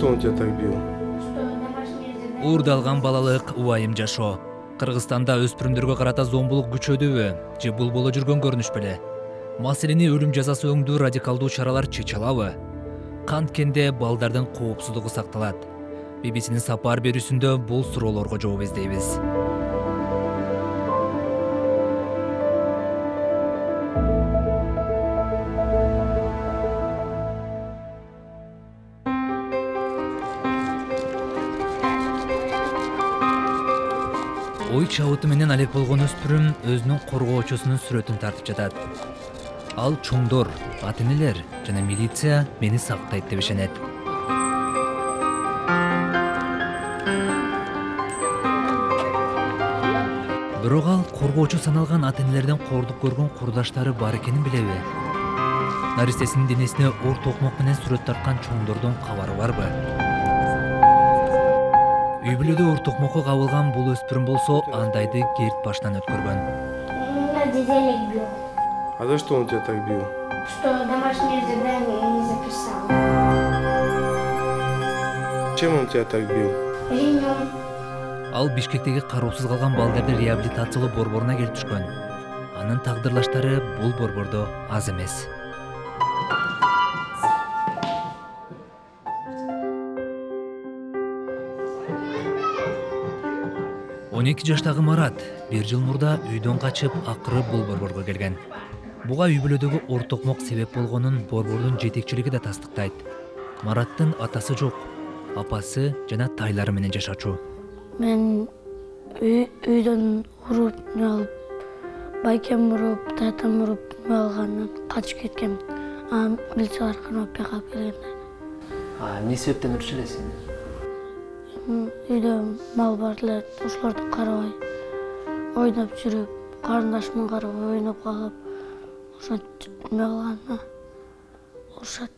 что он тебя так бил? Уурдалган балалык убайым жашоо. Кыргызстанда өспүрүмдөргө карата зомбулук күчөдүбү же бул боло жүргөн көрүнүш беле? Маселени өлүм жазасы өңдүү радикалдуу чаралар чече алабы? Канткенде балдардын коопсуздугу сакталат? BBC'нин сапар берүүсүндө бул суроолорго жооп издейбиз. Ой чабыты менен алек болгон өспүрүм өзүнүн коргоочусунун сүрөтүн тартып жатат. Ал чоңдор, ата-энелер жана милиция мени сактайт деп ишенет. Бирок ал коргоочу саналган ата-энелерден кордук көргөн курдаштары бар экенин билеби? Наристесинин денесине ор токмок менен сүрөт тарткан чоңдордун кабары барбы? Үй бүлөдө ор токмокко кабылган бул өспүрүм болсо андайды керт башынан өткөргөн. Дедалек бил. А за что он тебя так бил? Что домашнее задание не записал. Чем он тебя так бил? Ремнем. Ал Бишкектеги кароосуз калган балдарды реабилитациялоо борборуна келип түшкөн. Анын тагдырлаштары бул борбордо аз эмес. Он 12 жаштагы Марат 1 жыл мурда үйдөн качып, акыры бул борборго келген. Буга үй бүлөдөгү ор токмок себеп болгонун борбордун жетекчилиги да тастыктайт. Мараттын атасы жок, апасы жана тайлары менен жашачу. Мен үйдөн уруп алып, байкем уруп, татам уруп алгандан качып кеткем. Милициялар канап калып келгенде. Эмне себептен урушуп элесиң? Үйдө мал бар эле, ошолорду карабай, ойноп жүрүп, карындашымын карабай ойноп калып, ошентип эме кылганда урушат.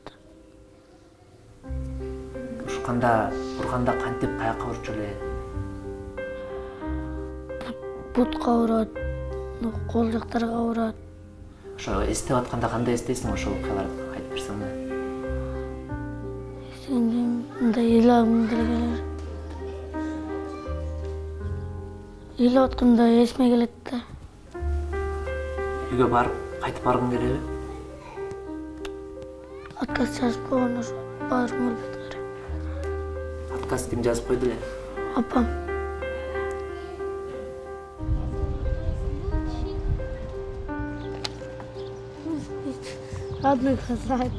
Урганда кантип каяка урчу эле? Бутка урат, кол жактарга урат. Ошо эстеп атканда кандай эстейсиң, ошол окуяларды айтып берсең? Мындай ыйлагым келет. Ыйлап атканда эсиме келет да. Үйгө барып, кайтып баргың келеби? Отказ жазып койгон ошо баргым келет. Отказ ким жазып койду эле? Апам. Одной хозяйкой.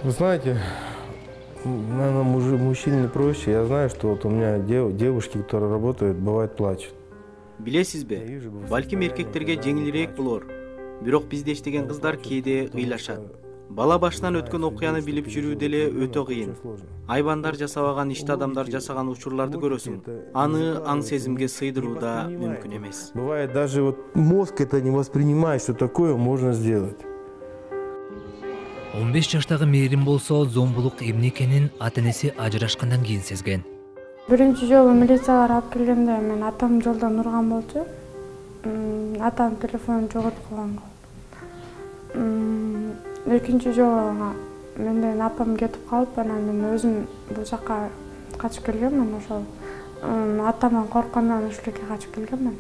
Вы знаете, наверное, мужчине проще. Я знаю, что вот у меня девушки, которые работают, бывает плачут. Билесизби? Балким эркектерге жеңилирээк болор. Бирок бизде иштеген кыздар кээде ыйлашат. Бала башынан өткөн окуяны билип жүрүү деле өтө кыйын. Айбандар жасабаган ишти адамдар жасаган учурларды көрөсүң. Аны аң сезимге сыйдыруу да мүмкүн эмес. Бывает, даже вот мозг это не воспринимает, что такое можно сделать. 15 жаштагы Мээрим болсо зомбулук эмне экенин ата-энеси ажырашкандан кийин сезген. Биринчи жолу милициялар алып келгенде мен атам жолдон урган болчу. Атам телефонун жоготуп койгон. Экинчи жолу менден апам кетип калып, анан мен өзүм бул жака качып келгенмин. Ошол атаман корккондон ушул жерге качып келгенмин.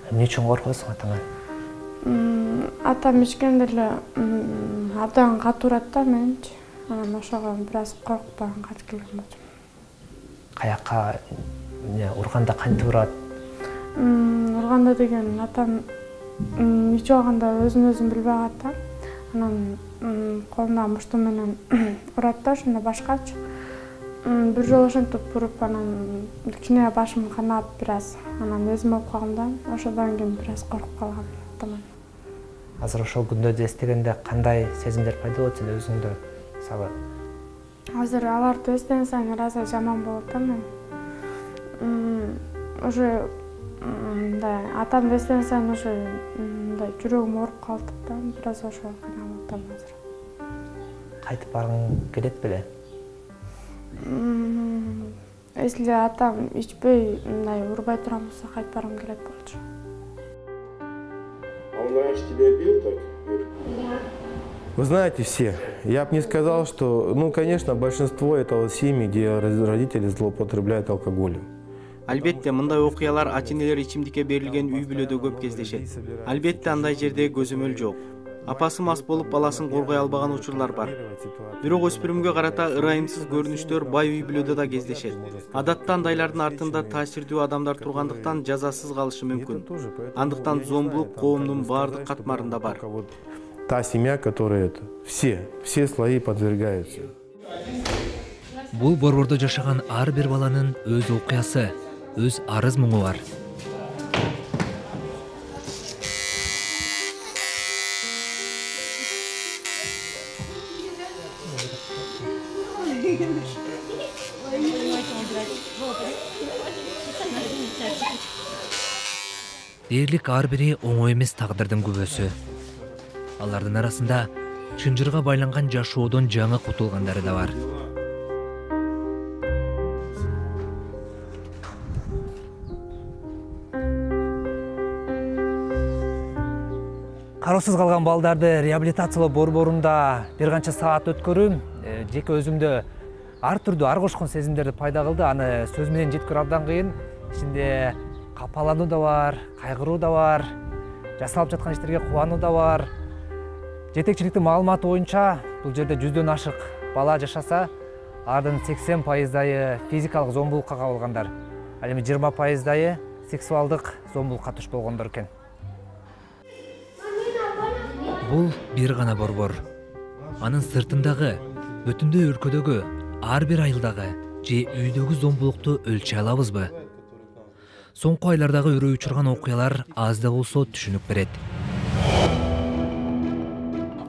Эмне үчүн коркосуң атаңан? Атам ичкенде эле абдан катуу урат да менчи. Анан ошого бир аз коркуп анан качып келген болчумун. Каяка урганда кантип урат? Урганда деген атам ичип алганда өзүн билбей калат да. Анан колуна мушту менен урат да, ошондо башкачы. Бир жолу ошентип уруп, анан кичине башым канап бир аз. Анан эзим алып калгам да, ошодон кийин бир аз коркуп калгам атаман. Азыр ошол күндөрдү эстегенде кандай сезимдер пайда болот сен өзүңдө? Мисалы, азыр аларды эстеген сайын ыраазы жаман болот да мен. Уже мындай атамды эстеген сайын уже мындай жүрөгүм ооруп калды да, бир аз ошого кыйналып атам азыр. Кайтып баргың келет беле? Если атам ичпей мындай урбай турган болсо кайтып баргым келет болчу. А он раньше тебя бил так? Да. Вы знаете, все. Я бы не сказал, что, конечно, большинство это вот семьи, где родители злоупотребляют алкоголем. Албетте, мындай окуялар ата-энелер ичимдикке берилген үй бүлөдө көп кездешет. Албетте, андай жерде көзөмөл жок. Апасы мас болуп баласын коргой албаган учурлар бар. Бирок өспүрүмгө карата ырайымсыз көрүнүштөр бай үй бүлөдө да кездешет. Адатта андайлардын артында таасирдүү адамдар тургандыктан жазасыз калышы мүмкүн. Андыктан зомбулук коомдун баардык катмарында бар. Та семья, которая это, все слои подвергаются. Бул борбордо жашаган ар бир баланын өз окуясы, өз арыз муңу бар. Дээрлик ар бири оңой эмес тагдырдын күбөсү. Алардын арасында чынжырга байланган жашоодон жаңы кутулгандары да бар. Кароосуз калган балдарды реабилитациялоо борборунда бир канча саат өткөрүү жеке өзүмдө ар түрдүү ар кошкон сезимдерди пайда кылды. Аны сөз менен жеткирүү абдан кыйын. Ичинде капалануу да бар, кайгыруу да бар, жасалып жаткан иштерге кубануу да бар. Жетекчиликтин маалыматы боюнча бул жерде 100дөн ашык бала жашаса, алардын 80% физикалык зомбулукка кабылгандар. Ал эми 20% сексуалдык зомбулукка туш болгондор экен. Бул бир гана борбор. Анын сыртындагы, бүтүндөй өлкөдөгү, ар бир айылдагы же үйдөгү зомбулукту өлчөй алабызбы? Соңку айлардагы үрөй учурган окуялар аз да болсо түшүнүк берет.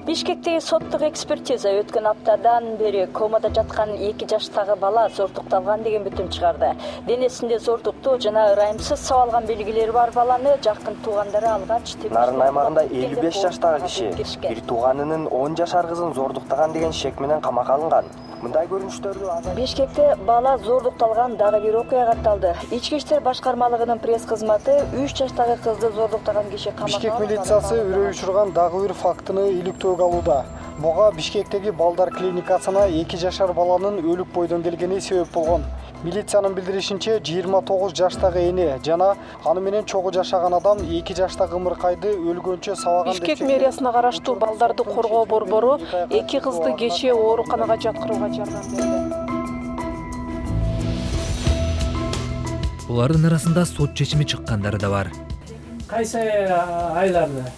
Бишкектеги соттук экспертиза өткөн аптадан бери комада жаткан 2 жаштагы бала зордукталган деген бүтүм чыгарды. Денесинде зордуктуу жана ырайымсыз сабалган белгилери бар баланы жакын туугандары алгач, Нарын аймагында 55 жаштагы киши бир тууганынын 10 жашар кызын зордуктаган деген шек менен камакка алынган. Мындай көрүнүштөрдү Бишкекте бала зордукталган дагы бир окуя катталды. Ички иштер башкармалыгынын пресс кызматы 3 жаштагы кызды зордуктаган киши камакка Бишкек милициясы үрөй учурган дагы бир фактыны иликтөөгө алууда. Буга Бишкектеги балдар клиникасына 2 жашар баланын өлүк бойдон келгени себеп болгон. Милициянын билдиришинче 29 жаштагы эне жана аны менен чогуу жашаган адам 2 жаштагы ымыркайды өлгөнчө сабаган. Бишкек мэриясына караштуу балдарды коргоо борбору 2 кызды кечээ ооруканага жаткырууга жардам берди. Булардын арасында сот чечими чыккандары да бар. Кайсы айларда?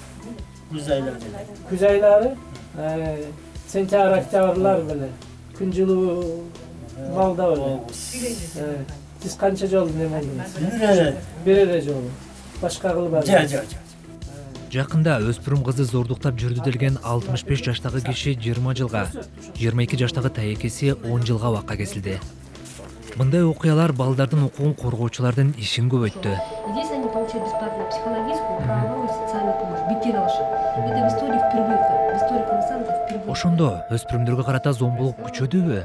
Күз айлары, сентябрь, октябрлар беле. Күн жылуу балда беле. Сиз канча жолу немедиңиз? Бир эле жолу. Башка кылбадыңыз? Жакында өспүрүм кызды зордуктап жүрдү делген 65 жаштагы киши 20 жылга, 22 жаштагы таекеси 10 жылга абакка кесилди. Мындай окуялар балдардын укугун коргоочулардын ишин көбөйттү. Здесь они получают бесплатную психологическую, правовую и социальную помощь. Бекер алышат. Это в истории впервые. В истории Кыргызстана это впервые. Ошондо өспүрүмдөргө карата зомбулук күчөдүбү?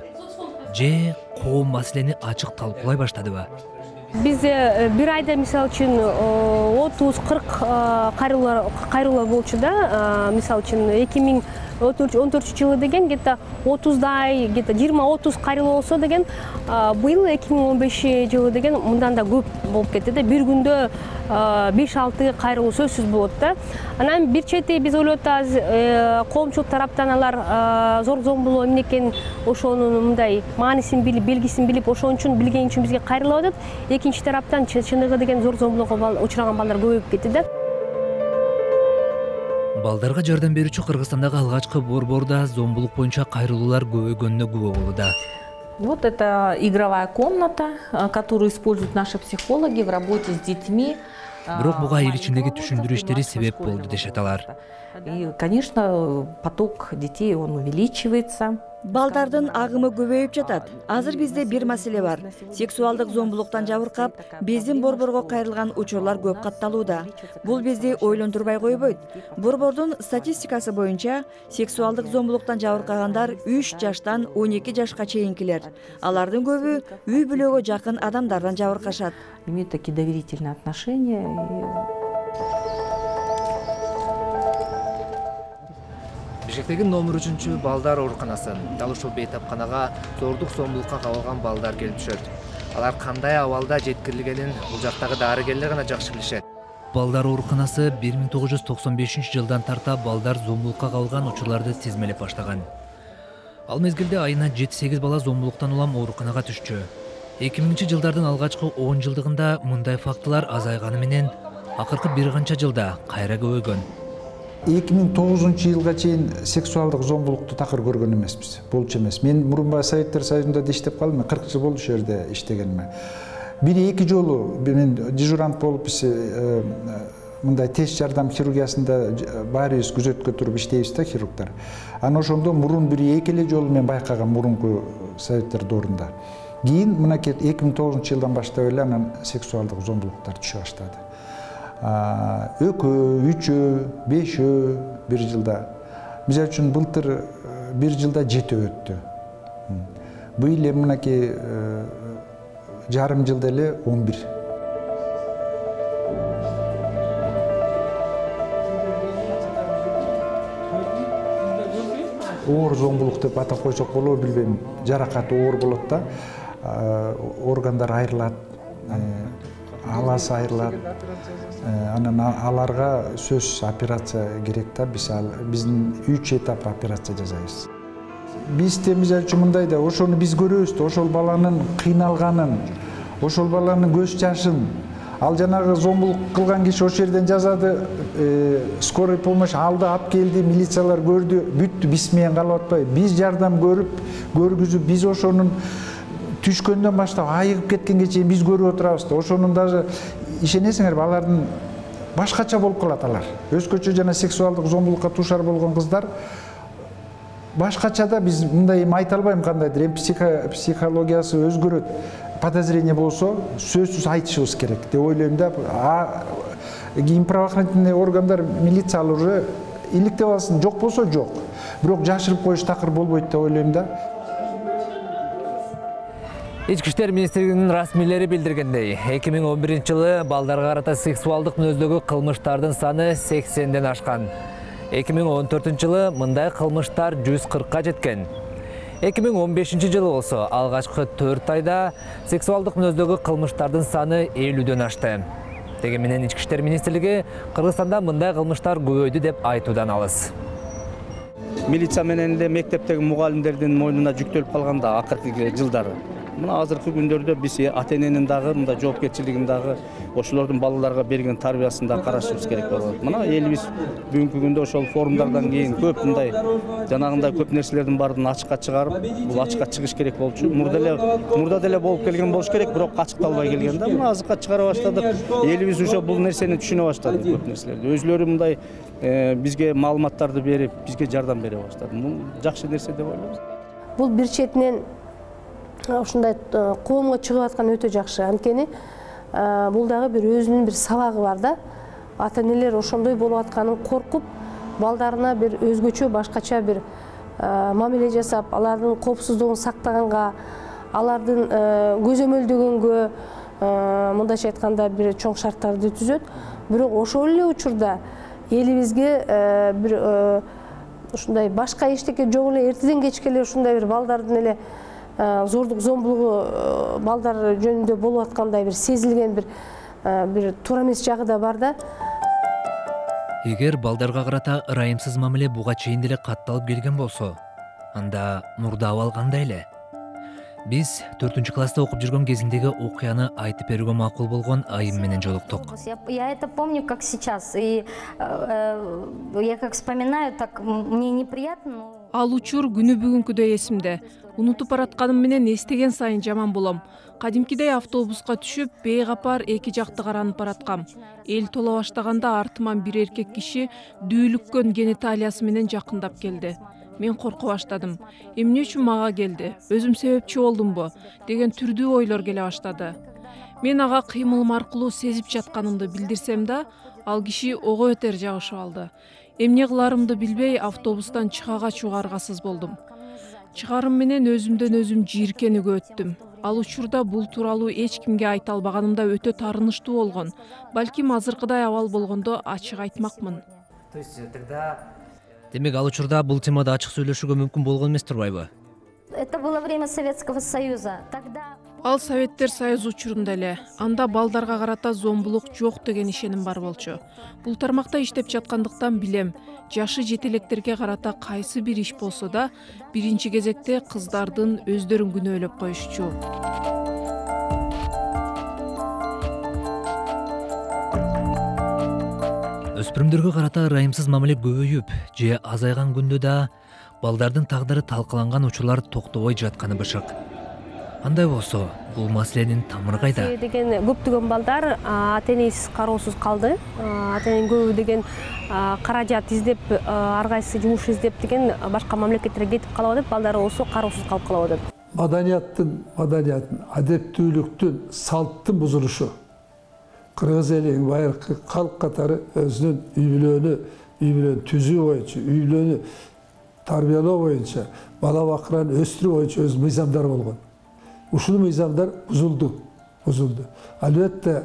Же коом маселени ачык талкуулай баштадыбы? Бизде бир айда мисалы үчүн 30-40 кайрылуулар болчу да. Мисалы үчүн 2014 жылы деген где-то 30дай, где-то 20-30 кайрылуу болсо деген, быйыл 2015 жылы деген мындан да көп болуп кетти да. Бир күндө 5-6 кайрылуу сөзсүз болот да. Анан бир чети биз ойлоп атабыз, коомчулук тараптан алар зор зомбулоо эмне экенин, ошонун мындай маанисин билип, белгисин билип, ошон үчүн билген үчүн бизге кайрылып атат. Экинчи тараптан чыныгы деген зор зомбулоого учураган балдар көбөйүп кетти да. Балдарга жардам берүүчү Кыргызстандагы алгачкы борборда зомбулук боюнча кайрылуулар көбөйгөнүнө күбө болууда. Вот это игровая комната, которую используют наши психологи в работе с детьми. Бирок буга эл ичиндеги түшүндүрүү иштери себеп болду дешет алар. И, конечно, поток детей он увеличивается. Балдардын агымы көбөйүп жатат. Азыр бизде бир маселе бар. Сексуалдык зомбулуктан жабыркап, биздин борборго кайрылган учурлар көп катталууда. Бул бизди ойлондурбай койбойт. Борбордун статистикасы боюнча, сексуалдык зомбулуктан жабыркагандар 3 жаштан 12 жашка чейинкилер. Алардын көбү үй бүлөгө жакын адамдардан жабыркашат. Имеют такие доверительные отношения. Бишкектеги номер 3 балдар ооруканасы. Дал ушул бейтапканага зордук зомбулукка кабылган балдар келип түшөт. Алар кандай абалда жеткирилгенин бул жактагы дарыгерлер гана жакшы билишет. Балдар ооруканасы 1995-жылдан тарта балдар зомбулукка кабылган учурларды тизмелеп баштаган. Ал мезгилде айына 7-8 бала зомбулуктан улам ооруканага түшчү. 2000-жылдардын алгачкы 10 жылдыгында мындай фактылар азайганы менен акыркы бир канча жылда кайра көбөйгөн. 2009-жылга чейин сексуалдык зомбулукту такыр көргөн эмеспиз. Болчу эмес. Мен мурунбай Советтер Союзунда да иштеп калдым. 40 жыл болду ошол жерде иштегениме. Бир-эки жолу мен дежурант болуп мындай тез жардам хирургиясында баарыбыз күзөткө туруп иштейбиз да, хирургдар. Анан ошондо мурун бир-эки эле жолу мен байкагам мурунку Советтер доорунда. Кийин мынакей 2009-жылдан баштап эле анан сексуалдык зомбулуктар түшө баштады. 2, 3, 5 бир жылда. Мисалы үчүн былтыр бир жылда 7 өттү. Быйыл эми мынакей жарым жылда эле 11. Оор зомбулук деп атап койсок болобу билбейм. Жаракаты оор болот да. Органдар айрылат, аласы айрылат. Анан аларга сөзсүз операция керек да. Биздин 3 этап операция жасайбыз. Биз мисалы үчүн мындай да, ошону биз көрөбүз да, ошол баланын кыйналганын, ошол баланын көз жашын, ал жанагы зомбулук кылган киши ошол жерден жазады, скорый помощь алды, алып келди, милициялар көрдү, бүттү, биз менен калып атпайбы. Биз жардам көргүзүп, биз ошонун түшкөндөн баштап айыгып кеткенге чейин биз көрүп отурабыз да. Ошонун даже ишенесиңерби, алардын башкача болуп калат алар. Өзгөчө жана сексуалдык зомбулукка туушар болгон кыздар башкача да, биз мындай эми айта албайм кандайдыр, эми психологиясы өзгөрөт. Подозрение болсо сөзсүз айтышыбыз керек деп ойлойм да. Кийин правоохранительный органдар, милиция уже иликтеп алсын, жок болсо жок. Бирок жашырып коюш такыр болбойт деп ойлойм да. Ички иштер министрлигинин расмийлери билдиргендей, 2011-жылы балдарга карата сексуалдык мүнөздөгү кылмыштардын саны 80ден ашкан. 2014-жылы мындай кылмыштар 140ка жеткен. 2015-жылы болсо алгачкы 4 айда сексуалдык мүнөздөгү кылмыштардын саны 50дөн ашты. Деген менен Ички иштер министрлиги Кыргызстанда мындай кылмыштар көбөйдү деп айтуудан алыс. Милиция менен эле мектептеги мугалимдердин мойнуна жүктөлүп калганда акыркы жылдары. Мына азыркы күндөрдө биз ата-эненин дагы мындай жоопкерчилигин дагы ошолордун балаларга берген тарбиясын да карашыбыз керек болот. Мына элибиз бүгүнкү күндө ошол форумдардан кийин көп мындай жанагындай көп нерселердин баарын ачыкка чыгарып, бул ачыкка чыгыш керек болчу. Мурда деле болуп келген болуш керек, бирок ачыкталбай келген да. Мына азыркка чыгара баштадык. Элибиз уже бул нерсени түшүнө баштады, көп нерселерди. Өзлөрү мындай бизге маалыматтарды берип, бизге жардам бере баштады. Бул жакшы нерсе деп ойлойбуз. Бул бир четинен ушундай коомго чыгып аткан өтө жакшы. Анткени бул дагы бир өзүнүн бир сабагы бар да. Ата-энелер ошондой болуп атканын коркуп, балдарына бир өзгөчө башкача бир мамиле жасап, алардын коопсуздугун сактаганга, алардын көзөмөлдөгөнгө, мындайча айтканда бир чоң шарттарды түзөт. Бирок ошол эле учурда элибизге бир ушундай башка эчтеке жок эле, эртеден кечке эле ушундай бир балдардын эле зордук зомбулугу балдар жөнүндө болуп аткандай бир сезилген бир туура эмес жагы да бар да. Эгер балдарга карата ырайымсыз мамиле буга чейин деле катталып келген болсо, анда мурда абал кандай эле? Биз 4-класста окуп жүргөн кезиндеги окуяны айтып берүүгө макул болгон айым менен жолуктук. Я это помню как сейчас, и я как вспоминаю, так мне неприятно. Ал учур күнү бүгүнкүдөй эсимде. Унутуп баратканым менен эстеген сайын жаман болом. Кадимкидей автобуска түшүп, бейгапар эки жакты каранып бараткам. Эл тола баштаганда артыман бир эркек киши дүүлүккөн гениталиясы менен жакындап келди. Мен корко баштадым. Эмне үчүн мага келди? Өзүм себепчи болдумбу? Деген түрдүү ойлор келе баштады. Мен ага кыймылым аркылуу сезип жатканымды билдирсем да, ал киши ого бетер жабышып алды. Эмне кыларымды билбей автобустан чыгага чугаргасыз болдум. Чыгарым менен өзүмдөн өзүм жийиркенүүгө өттүм. Ал учурда бул тууралуу эч кимге айта албаганымда өтө таарынычтуу болгон. Балким азыркыдай абал болгондо ачык айтмакмын. То есть тогда Демек ал учурда бул темада ачык сүйлөшүүгө мүмкүн болгон эмес турбайбы? Это было время Советского Союза. Тогда Ал Советтер Союзу учурунда эле. Анда балдарга карата зомбулук жок деген ишеним бар болчу. Бул тармакта иштеп жаткандыктан билем, жашы жете электерге карата кайсы бир иш болсо да, биринчи кезекте кыздардын өздөрүн күнөөлөп коюшчу. Өспүрүмдөргө карата ырайымсыз мамиле көбөйүп, же азайган күндө да балдардын тагдыры талкаланган учурлар токтобой жатканы бышык. Андай болсо, бул маселенин тамыры кайда? Деген көптөгөн балдар ата-энесиз кароосуз калды. Ата-эненин көбү деген каражат издеп, ар кайсы жумуш издеп деген башка мамлекеттерге кетип калып атат, балдары болсо кароосуз калып калып атат. Маданиятын, адептүүлүктүн, салттын бузулушу. Кыргыз элинин байыркы калк катары өзүнүн үй бүлөнү түзүү боюнча, үй бүлөнү тарбиялоо боюнча, бала бакыраны өстүрүү боюнча өз мыйзамдары болгон. Ушул мыйзамдар бузулду. Албетте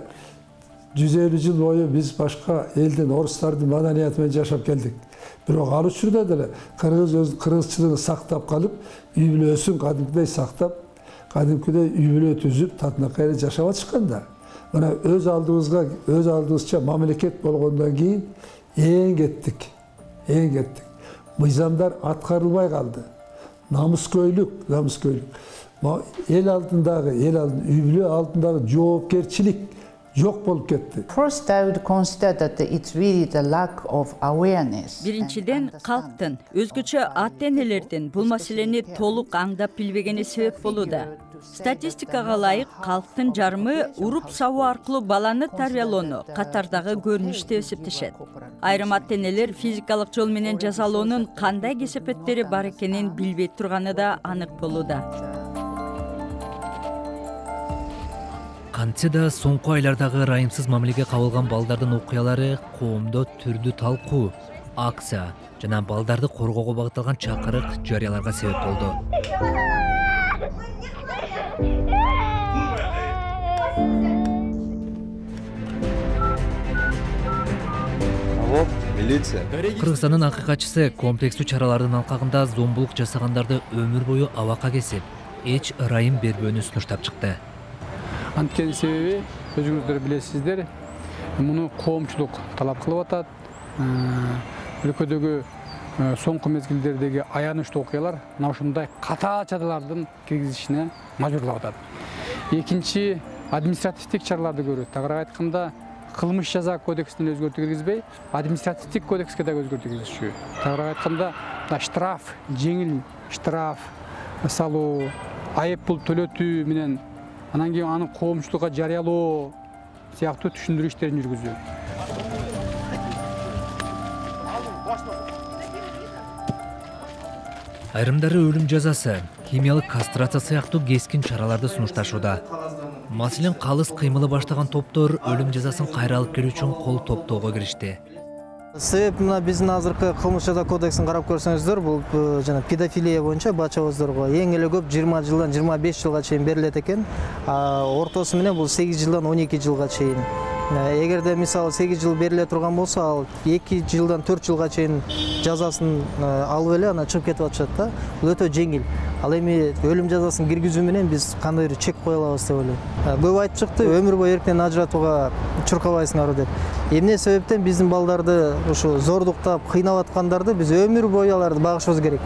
150 жыл бою биз башка элдин, орустардын маданияты менен жашап келдик. Бирок ал учурда деле кыргызчылыгын сактап калып, үй бүлөсүн кадимкидей сактап, кадимкидей үй бүлө түзүп, татынакай эле жашап атышкан да. Мына өз алдыбызча мамлекет болгондон кийин эң кеттик. Мыйзамдар аткарылбай калды. Намыскөйлүк. Эл алдындагы, үй бүлө алдындагы жоопкерчилик жок болуп кетти. First, I would consider that it's really the lack of awareness. Биринчиден, калктын, өзгөчө ата-энелердин бул маселени толук аңдап билбегени себеп болууда. Статистикага ылайык, калктын жарымы уруп сабоо аркылуу баланы тарбиялоону катардагы көрүнүш деп эсептешет. Айрым ата-энелер физикалык жол менен жазалоонун кандай кесепеттери бар экенин билбей турганы да анык болууда. Кантсе да соңку айлардагы ырайымсыз мамилеге кабылган балдардын окуялары коомдо түрдүү талкуу, акция жана балдарды коргоого багытталган чакырык жарыяларга себеп болду. Милиция. Кыргызстандын акыйкатчысы комплекстүү чаралардын алкагында зомбулук жасагандарды өмүр бою абакка кесип, эч ырайым бербөөнү сунуштап чыкты. Анткени себеби өзүңүздөр билесиздер, муну коомчулук талап кылып атат. Өлкөдөгү соңку мезгилдердеги аянычтуу окуялар мына ушундай катаал чаралардын киргизишине мажбурлап атат. Экинчи, административдик чараларды көрөт. Тагыраак айтканда, кылмыш жаза кодексине өзгөртүү киргизбей, административдик кодекске дагы өзгөртүү киргизишүү. Тагыраак айтканда, штраф, жеңил штраф салуу, айып пул төлөтүү менен анан кийин аны коомчулукка жарыялоо сыяктуу түшүндүрүү иштерин жүргүзүү. Айрымдары өлүм жазасы, химиялык кастрация сыяктуу кескин чараларды сунушташууда. Маселен, калыс кыймылы баштаган топтор өлүм жазасын кайра алып келүү үчүн кол топтоого киришти. Себеп мына биздин азыркы кылмыш жаза кодексин карап көрсөңүздөр, бул жана педофилия боюнча бачабыздырга эң эле көп 20 жылдан 25 жылга чейин берилет экен. Ортосу менен бул 8 жылдан 12 жылга чейин. Эгерде мисалы 8 жыл бериле турган болсо, ал 2 жылдан 4 жылга чейин жазасын алып эле анан чыгып кетип атышат да. Бул өтө жеңил. Ал эми өлүм жазасын киргизүү менен биз кандай бир чек кое алабыз деп ойлойм. Көп айтып чыкты, өмүр бою эрктен ажыратууга чуркабайсыңар деп. Эмне себептен биздин балдарды ушу зордуктап, кыйнап аткандарды биз өмүр бою аларды багышыбыз керек.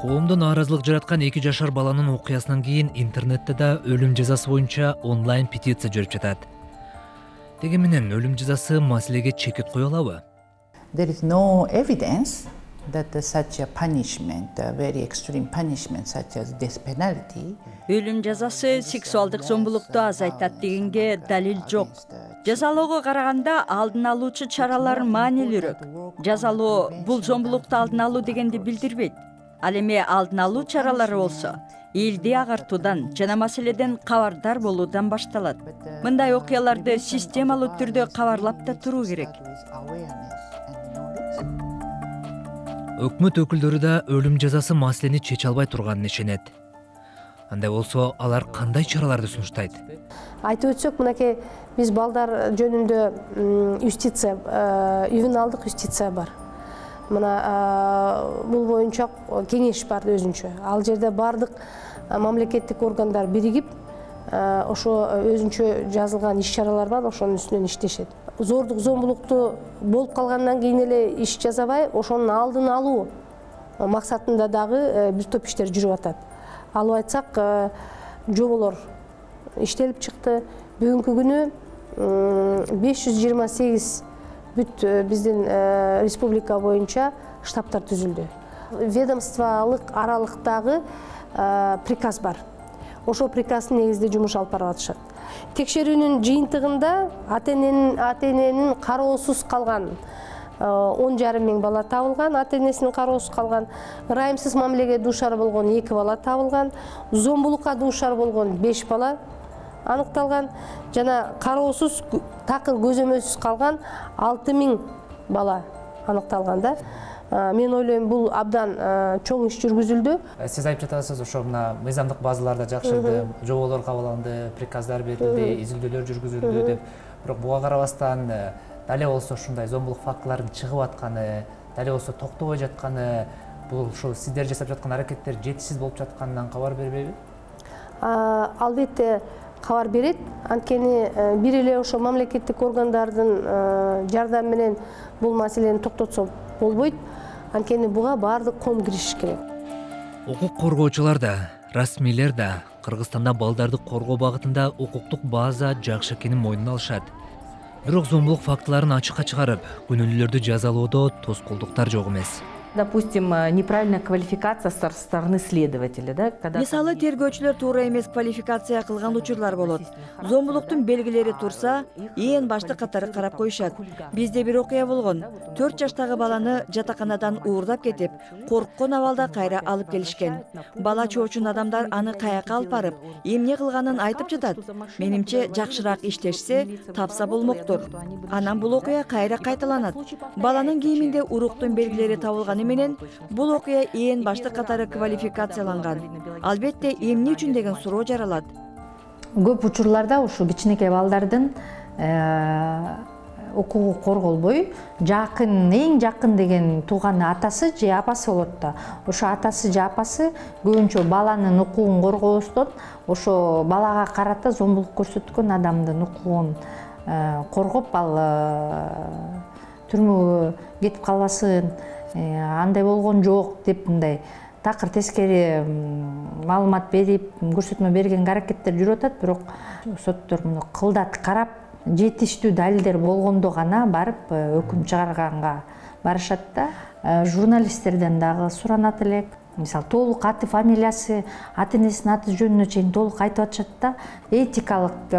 Коомдо нааразылык жараткан 2 жашар баланын окуясынан кийин интернетте да өлүм жазасы боюнча онлайн петиция жүрүп жатат. Деги менен өлүм жазасы маселеге чекит кое алабы? There is no evidence that such a punishment, a very extreme punishment such as death penalty. Өлүм жазасы сексуалдык зомбулукту азайтат дегенге далил жок. Жазалоого караганда алдын алуучу чаралар маанилүүрөөк. Жазалоо бул зомбулукту алдын алуу дегенди билдирбейт. Ал эми алдын алуу чаралары болсо, элди агартуудан жана маселеден кабардар болуудан башталат. Мындай окуяларды системалуу түрдө кабарлап да туруу керек. Өкмөт өкүлдөрү да өлүм жазасы маселени чече албай турганын ишенет. Андай болсо, алар кандай чараларды сунуштайт? Айтып өтсөк, мынакей биз балдар жөнүндө юстиция, ювеналдык юстиция бар. мына бул боюнча кеңеш бар өзүнчө. Ал жерде бардык мамлекеттик органдар биригип ошо өзүнчө жазылган иш-чаралар бар, ошонун үстүнөн иштешет. Зордук зомбулукту болуп калгандан кийин эле иш жасабай, ошонун алдын алуу максатында дагы бир топ иштер жүрүп атат. Алып айтсак, жоболор иштелип чыкты. Бүгүнкү күнү 528 бүт биздин республика боюнча штабтар түзүлдү. Ведомстволук аралыктагы приказ бар. Ошол приказдын негизинде жумуш алып барып атышат. Текшерүүнүн жыйынтыгында ата-эненин кароосуз калган 10,5 миң бала табылган, ата-энесинин кароосуз калган, ырайымсыз мамилеге дуушар болгон 2 бала табылган, зомбулукка дуушар болгон 5 бала аныкталган, жана кароосуз такыр көзөмөлсүз калган 6 миң бала аныкталган да. Мен ойлойм, бул абдан чоң иш жүргүзүлдү. Сиз айтып жатасыз, ошо мына мыйзамдык базаларда жакшырды, жоболор кабылданды, приказдар берилди, изилдөөлөр жүргүзүлдү деп. Бирок буга карабастан дале болсо ушундай зомбулук фактыларынын чыгып атканы, дале болсо токтобой жатканы, бул ушул сиздер жасап жаткан аракеттер жетишсиз болуп жатканынан кабар бербейби? Албетте кабар берет. Анткени бир эле ошо мамлекеттик органдардын жардамы менен бул маселени токтотсо болбойт. Анткени буга баардык ком киришиш керек. Укук коргоочулар да, расмийлер да Кыргызстанда балдарды коргоо багытында укуктук база жакшы экенин мойнуна алышат. Бирок зомбулук фактыларын ачыкка чыгарып, күнөөлүүлөрдү жазалоодо тоскоолдуктар жок эмес. Допустим, неправильная квалификация со стороны следователя, да? Мисалы, тергөөчүлөр туура эмес квалификация кылган учурлар болот. Зомбулуктун белгилери турса, ээн башты катары карап коюшат. Бизде бир окуя болгон. 4 жаштагы баланы жатаканадан уурдап кетип, корккон абалда кайра алып келишкен. Бала чоочун адамдар аны каяка алып барып, эмне кылганын айтып жатат. Менимче, жакшыраак иштешсе, тапса болмоктур. Анан бул окуя кайра кайталанат. Баланын кийиминде уруктун белгилери табылган менен бул окуя ээн башты катары квалификацияланган. Албетте, эмне үчүн деген суроо жаралат. Көп учурларда ушу кичинекей балдардын укугу корголбой, жакын, эң жакын деген тууганы атасы же апасы болот да. Ошо атасы же апасы көбүнчө баланын укугун коргобостон, ошо балага карата зомбулук көрсөткөн адамдын укугун коргоп, ал түрмөгө кетип калбасын, андай болгон жок деп мындай такыр тескери маалымат берип, көрсөтмө берген аракеттер жүрүп атат. Бирок соттор муну кылдат карап, жетиштүү далилдер болгондо гана барып өкүм чыгарганга барышат да. Журналисттерден дагы суранат элек. Мисалы, толук аты, фамилиясы, ата-энесинин аты жөнүнө чейин толук айтып атышат да. Этикалык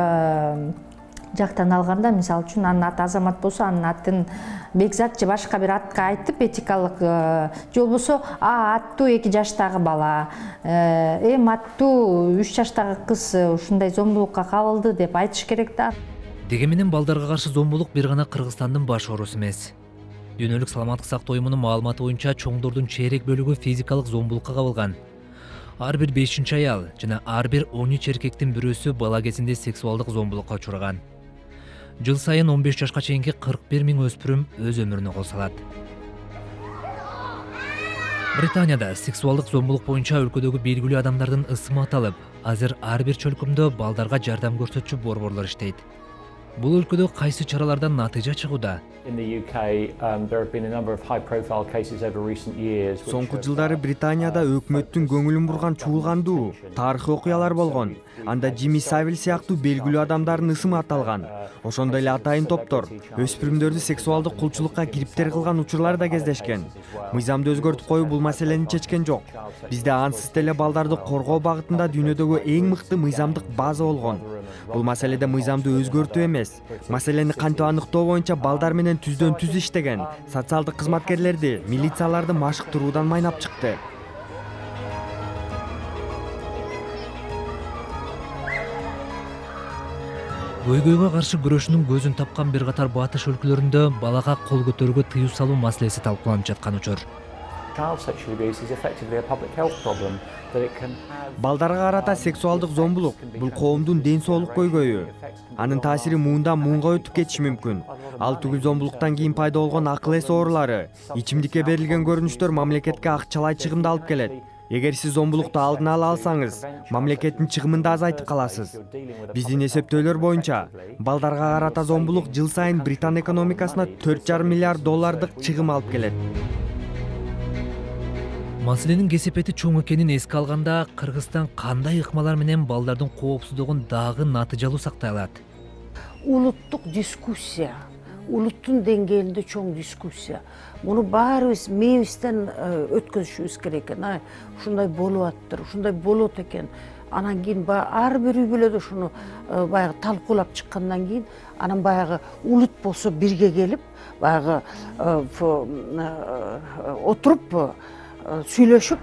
жактан алганда, мисалы үчүн анын аты Азамат болсо, анын атын Бекзат же башка бир атка айтып, этикалык же болбосо аттуу 2 жаштагы бала, аттуу 3 жаштагы кыз ушундай зомбулукка кабылды деп айтыш керек да. Деги менен балдарга каршы зомбулук бир гана Кыргызстандын баш оорусу эмес. Дүйнөлүк саламаттык сактоо уюмунун маалыматы боюнча чоңдордун чейрек бөлүгү физикалык зомбулукка кабылган. Ар бир 5-чи аял жана ар бир 13 эркектин бирөөсү бала кезинде сексуалдык зомбулукка учураган. Жыл сайын 15 жашка чейинки 41 миң өспүрүм өз өмүрүнө кол салат. Британияда сексуалдык зомбулук боюнча өлкөдөгү белгилүү адамдардын ысымы аталып, азыр ар бир чөлкөмдө балдарга жардам көрсөтчү борборлор иштейт. Бул өлкөдө кайсы чаралардан натыйжа чыгууда? Соңку жылдары Британияда өкмөттүн көңүлүн бурган чуулгандуу тарыхый окуялар болгон. Анда Джимми Савиль сыяктуу белгилүү адамдардын ысымы аталган. Ошондой эле атайын топтор өспүрүмдөрдү сексуалдык кулчулукка кириптер кылган учурлар да кездешкен. Мыйзамды өзгөртүп коюу бул маселени чечкен жок. Бизде ансыз деле балдарды коргоо багытында дүйнөдөгү эң мыкты мыйзамдык база болгон. Бул маселеде мыйзамды өзгөртүү эмес, маселени кантип аныктоо боюнча балдар менен түздөн түз иштеген социалдык кызматкерлерди, милицияларды машыктыруудан майнап чыкты. Көйгөйгө каршы күрөшүнүн көзүн тапкан бир катар батыш өлкөлөрүндө балага кол көтөрүүгө тыюу салуу маселеси талкууланып жаткан учур. Балдарга карата сексуалдык зомбулук бул коомдун ден соолук көйгөйү. Анын таасири муундан муунга өтүп кетиши мүмкүн. Ал түгүл зомбулуктан кийин пайда болгон акыл эс оорулары, ичимдикке берилген көрүнүштөр мамлекетке акчалай чыгымды алып келет. Эгер сиз зомбулукту алдын ала алсаңыз, мамлекеттин чыгымын да азайтып каласыз. Биздин эсептөөлөр боюнча, балдарга карата зомбулук жыл сайын Британ экономикасына 4,5 миллиард доллардык чыгым алып келет. Маселенин кесепети чоң экенин эске алганда, Кыргызстан кандай ыкмалар менен балдардын коопсуздугун дагы натыйжалуу сактай алат? Улуттук дискуссия, улуттун деңгээлинде чоң дискуссия. Муну баарыбыз мээбизден өткөзүшүбүз керек экен. Ушундай болуп аттыр, ушундай болот экен. Анан кийин ар бир үй бүлөдө ушуну баягы талкуулап чыккандан кийин, анан баягы улут болсо бирге келип, баягы отуруп сүйлөшүп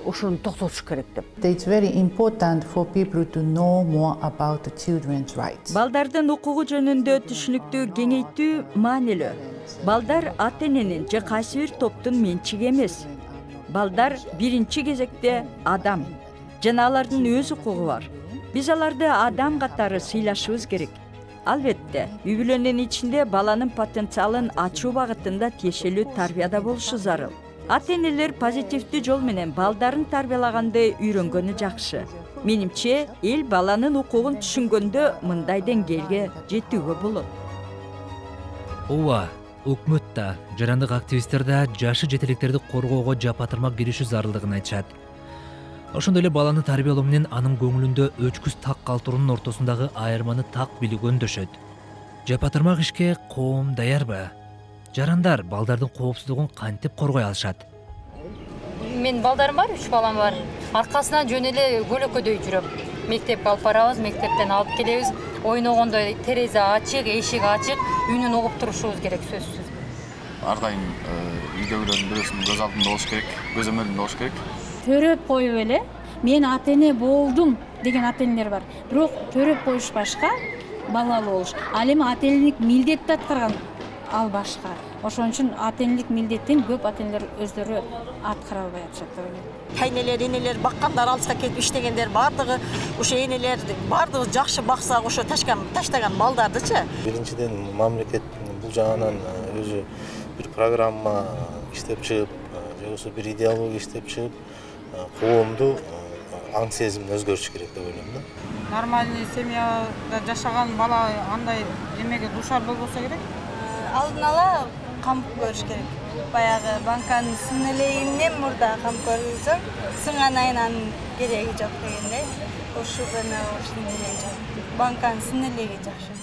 ушуну токтотуш керек деп. It's very important for people to know more about the children's rights. Балдардын укугу жөнүндө түшүнүктү кеңейтүү маанилүү. Балдар ата-эненин же кайсы бир топтун менчиги эмес. Балдар биринчи кезекте адам. Жана алардын өз укугу бар. Биз аларды адам катары сыйлашыбыз керек. Албетте, үй бүлөнүн ичинде баланын потенциалын ачуу багытында тиешелүү тарбияда болушу зарыл. Ата-энелер позитивдүү жол менен балдарын тарбиялаганды үйрөнгөнү жакшы. Менимче, эл баланын укугун түшүнгөндө мындай деңгээлге жетүүгө болот. Ооба, өкмөт да, жарандык активисттер да жашы жетелектерди коргоого жапатырма киришүү зарылдыгын айтышат. Ошондой эле баланы тарбиялоо менен анын көңүлүндө өчкүз так калтыруунун ортосундагы айырманы так билүүгө өндөшөт. Жапатырмак ишке коом даярбы? Жарандар балдардын коопсуздугун кантип коргой алышат? Мен балдарым бар, 3 балам бар. Аркасынан жөн эле көлөкөдөй жүрөм. Мектепке алып барабыз, мектептен алып келебиз. Ойногондо терезе ачык, эшик ачык, үнүн угуп турушубуз керек сөзсүз. Ар дайым үйдөгүлөрдүн бирөөсүнүн көз алдында болуш керек, көз өмөрүндө болуш керек. Төрөп коюп эле, мен ата-эне болдум деген ата-энелер бар. Бирок төрөп коюш башка, балалуу болуш. Ал эми ата-энелик милдетти аткарган ал башка. Ошон үчүн ата-энелик милдеттин көп ата-энелер өздөрү аткара албай атышат деп ойлойм. Кайнелер, энелер баккандар, алыска кетип иштегендер бардыгы, ошо энелер бардыгы жакшы бакса, ошо таштаган балдардычы. Биринчиден мамлекет бул жагынан өзү бир программа иштеп чыгып, же болбосо бир идеология иштеп чыгып, коомду аң сезимин өзгөртүш керек деп ойлойм да. Нормальный семьяда жашаган бала андай эмеге дуушар болбосо керек. Алдын ала камп көрүш керек. Баягы банканын сын элегинен мурда камп көрүлсө, сынган айынан кереги жок дегендей. Ошондой эле жок. Банканын сын элеги жакшы.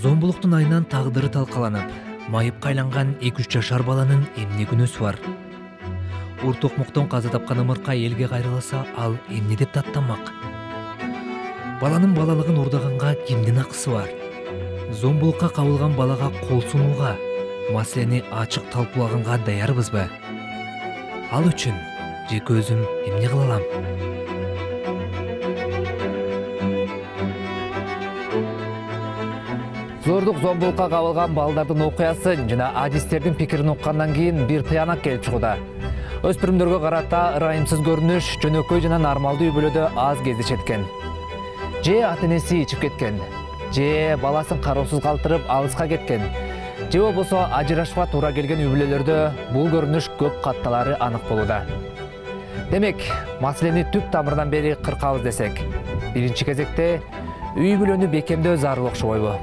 Зомбулуктун айынан тагдыры талкаланып, майыпка айланган 2-3 жашар баланын эмне күнөөсү бар? Урт окмоктон каза тапкан ымырка элге кайрылса, ал эмне деп даттанмак? Баланын балалыгын урдаганга кимдин акысы бар? Зомбулукка кабылган балага кол сунууга, маселени ачык талкуулаганга даярбызбы? Ал үчүн жеке өзүм эмне кыла алам? Зордук зомбулукка кабылган балдардын окуясын жана адистердин пикирин уккандан кийин бир тыянак келип чыгууда. Өспүрүмдөргө карата ырайымсыз көрүнүш жөнөкөй жана нормалдуу үй бүлөдө аз кездешет экен. Же ата-энеси ичип кеткен, же баласын кароосуз калтырып алыска кеткен, же болбосо ажырашууга туура келген үй бүлөлөрдө бул көрүнүш көп катталары анык болууда. Демек, маселени түп тамырынан бери кыркабыз десек, биринчи кезекте үй бүлөнү бекемдөө зарыл окшобойбу?